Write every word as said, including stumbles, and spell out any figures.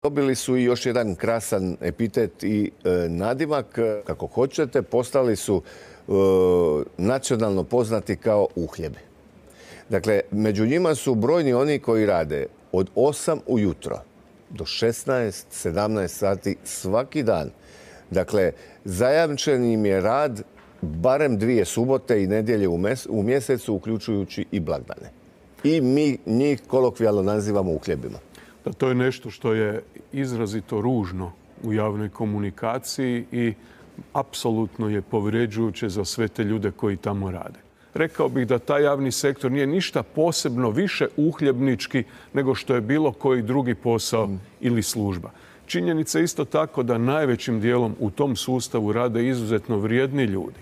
Dobili su i još jedan krasan epitet i e, nadimak, kako hoćete, postali su e, nacionalno poznati kao uhljebi. Dakle, među njima su brojni oni koji rade od osam ujutro do šesnaest sedamnaest sati svaki dan. Dakle, zajamčen im je rad barem dvije subote i nedjelje u mjesecu, uključujući i blagdane. I mi njih kolokvijalno nazivamo uhljebima. Da, to je nešto što je izrazito ružno u javnoj komunikaciji i apsolutno je povređujuće za sve te ljude koji tamo rade. Rekao bih da taj javni sektor nije ništa posebno više uhljebnički nego što je bilo koji drugi posao ili služba. Činjenica je isto tako da najvećim dijelom u tom sustavu rade izuzetno vrijedni ljudi.